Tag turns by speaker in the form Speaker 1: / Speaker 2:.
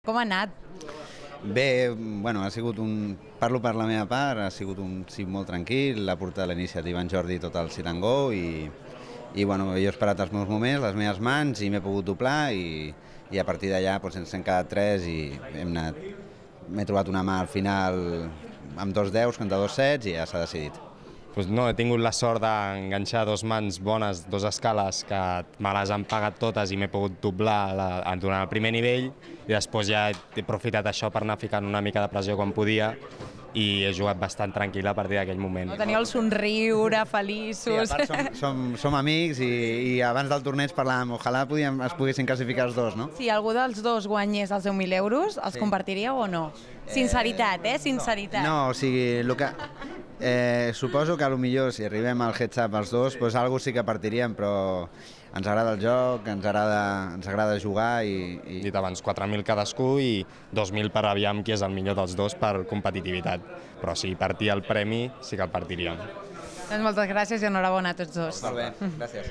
Speaker 1: Com ha anat?
Speaker 2: Bé, bueno, parlo per la meva part, ha sigut un cim molt tranquil, l'ha portat l'iniciativa en Jordi tot el sit and go i bueno, jo he esperat els meus moments, les meves mans i m'he pogut doblar i a partir d'allà doncs, ens hem quedat tres i m'he trobat una mà al final amb 2 10 contra 2 sets i ja s'ha decidit.
Speaker 3: Pues no, he tingut la sort d'enganxar dos mans bones, dos escales que me les han pagat totes i m'he pogut doblar durant el primer nivell i després ja he aprofitat això per anar ficant una mica de pressió quan podia i he jugat bastant tranquil a partir d'aquell moment.
Speaker 1: No, teniu el somriure, feliços...
Speaker 2: Sí, a part som amics i abans del torneig parlàvem, ojalà es poguessin classificar els dos, no?
Speaker 1: Si algú dels dos guanyés els 10.000 euros, els compartiríeu o no? Sinceritat, sinceritat.
Speaker 2: No, o sigui, suposo que potser si arribem al heads-up els dos, doncs alguna sí que partiríem, però ens agrada el joc, ens agrada jugar i...
Speaker 3: Dit abans, 4.000 cadascú i 2.000 per aviam qui és el millor dels dos per competitivitat. Però si partia el premi, sí que el partiríem.
Speaker 1: Doncs moltes gràcies i enhorabona a tots dos.
Speaker 2: Molt bé, gràcies.